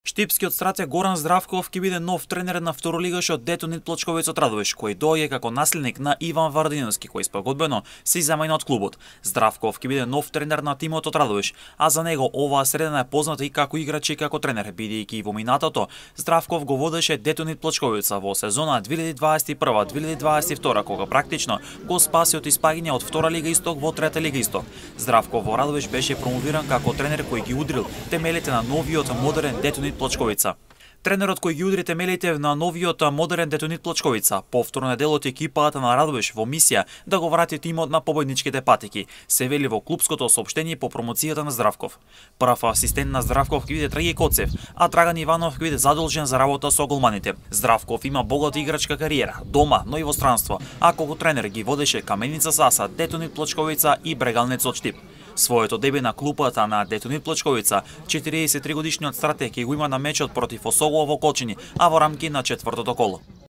Штипскиот стратег Горан Здравков ќе биде нов тренер на второлигашот Детонит Плочковец од Радовиш, кој доаѓа како наследник на Иван Варадиновски, кој спогодбено се иземајна од клубот. Здравков ќе биде нов тренер на тимот од Радовиш, а за него оваа средина е позната и како играч и како тренер, бидејќи и во минатото Здравков го водеше Детонит Плочковица во сезона 2021-2022, кога практично го спаси од испаѓање од втора лига Исток во трета лига Исток. Здравков во Радовиш беше промовиран како тренер кој ги удрил темелите на новиот модерен Детонит Плочковица. Тренерот кој ги удри темелите на новиот модерен Детонит Плочковица повторно дел од екипата на Радовиш во мисија да го врати тимот на победничките патеки, се вели во клубското соопштение по промоцијата на Здравков. Прв асистент на Здравков ќе биде Драги Коцев, а Драган Иванов ќе биде задолжен за работа со голманите. Здравков има богата играчка кариера, дома, но и во странство, а како тренер ги водеше Каменица Саса, Детонит Плочковица и Брегалнец од Штип. Своето дебе на клупата на Детонит Плочковица, 43 годишниот стратег го има на мечот против Осогово во Колчини, а во рамки на четвртото коло.